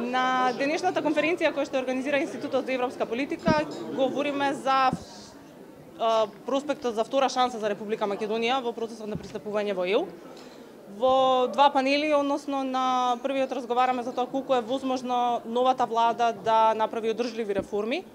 На денешната конференција која што организира Институтот за европска политика, говориме за проспектот за втора шанса за Република Македонија во процесот на пристапување во ЕУ. Во два панели, односно на првиот разговараме за тоа колку е возможно новата влада да направи одржливи реформи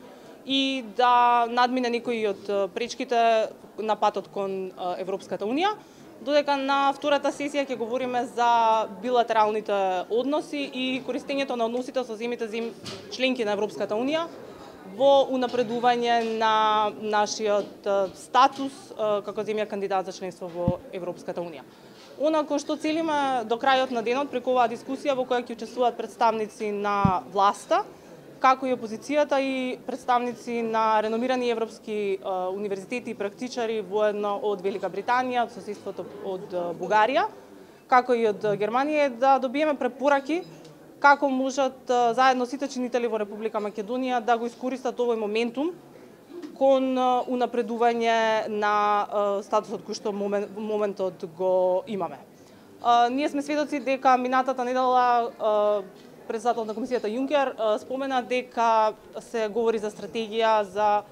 и да надмине некои од пречките на патот кон Европската Унија. Додека на втората сесија ќе говориме за билатералните односи и користењето на односите со земјите членки на Европската Унија во унапредување на нашиот статус како земја кандидат за членство во Европската Унија. Онако што целиме до крајот на денот преку оваа дискусија во која ќе учествуваат представници на власта, како и опозицијата и представници на реномирани европски универзитети и практичари воедно од Велика Британија, од соседството од Бугарија, како и од Германија, да добиеме препораки како можат заедно сите чинители во Република Македонија да го искористат овој моментум кон унапредување на статусот кој што моментот го имаме. Ние сме сведоци дека минатата недела председател на комисијата Јункер спомена дека се говори за стратегија за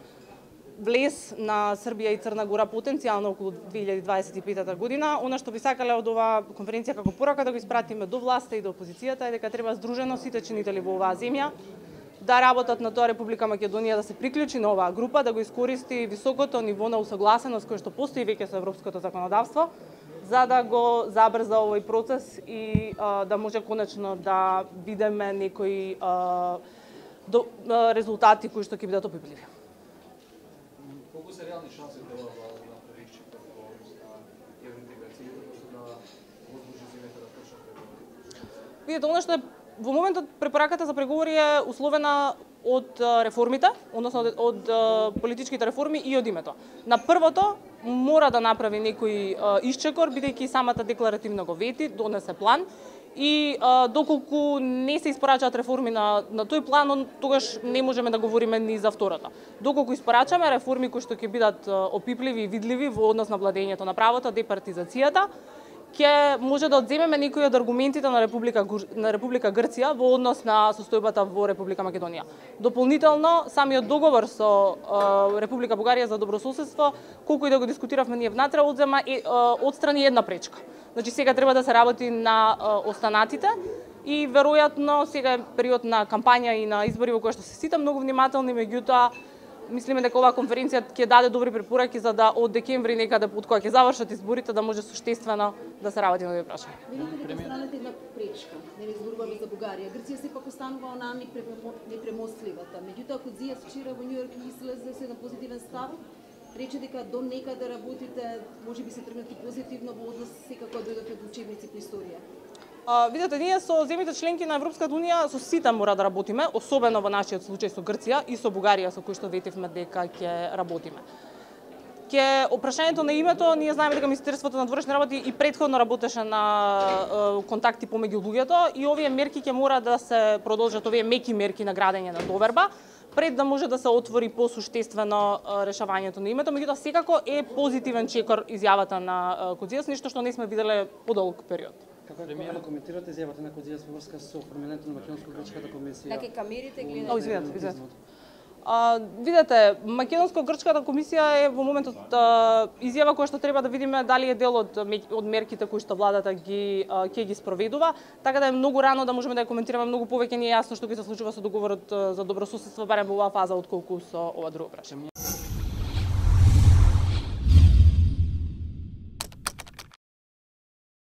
влез на Србија и Црна Гора потенцијално околу 2025 година. Она што би сакале од оваа конференција како порака да го испратиме до власта и до опозицијата е дека треба здружено сите чинители во оваа земја да работат на тоа Република Македонија да се приклучи на оваа група, да го искористи високото ниво на усогласеност кој што постои веќе со европското законодавство, за да го забрза овој процес и да може конечно да видиме некои резултати кои што ќе бидат опипливи. Колку се реални шансите ова влада да направи исчекор во евроинтеграција, да возможи земјата да почнат преговори? Видете, она што е во моментот препораката за преговори е условена од реформите, односно од политичките реформи и од името. На првото мора да направи некој исчекор, бидејќи самата декларативно го вети, донесе план и доколку не се испорачаат реформи на тој план, тогаш не можеме да говориме ни за второто. Доколку испорачаме реформи кои што ќе бидат опипливи и видливи во однос на владењето на правото, департизацијата, ќе може да одземеме некои од аргументите на Република Грција во однос на состојбата во Република Македонија. Дополнително, самиот договор со Република Бугарија за добрососедство, колку и да го дискутиравме ние внатре, отстрани една пречка. Значи сега треба да се работи на останатите и веројатно сега е период на кампања и на избори во која што се сите многу внимателни, меѓутоа мислиме дека оваа конференција ќе даде добри препораки за да од декември некаде од кога ќе завршат изборите да може суштествено да се работи на овие прашања. Видите дека страната една пречка, нели зборуваме за Бугарија. Грција сепак останува онаа непремостливата. Меѓутоа Кодзија вчера во Њујорк излезе со еден позитивен став, рече дека до некаде работите можеби се тргнати позитивно во однос секако дојдоте до учебници по историја. Видете, ние со земјите членки на Европската Унија со сите мора да работиме, особено во нашиот случај со Грција и со Бугарија со кој што ветивме дека ќе работиме. Прашањето на името, ние знаеме дека Министерството на внатрешни работи и претходно работеше на контакти помеѓу луѓето и овие мерки ќе мора да се продолжат, овие меки мерки на градење на доверба, пред да може да се отвори посуштествено решавањето на името, меѓутоа секако е позитивен чекор изјавата на Кодзија, нешто што не сме виделе подолг период. Како да коментирате изјавата на Кодзија во врска со оформувањето на македонско-грчката комисија? Дека камерите гледаат. Извинете. Видете, македонско-грчката комисија е во моментот изјава која што треба да видиме дали е дел од мерките кои што владата ќе ги спроведува, така да е многу рано да можеме да ја коментираме многу повеќе, не е јасно што ќе се случува со договорот за добрососедство барем во оваа фаза отколку со ова друго прашање.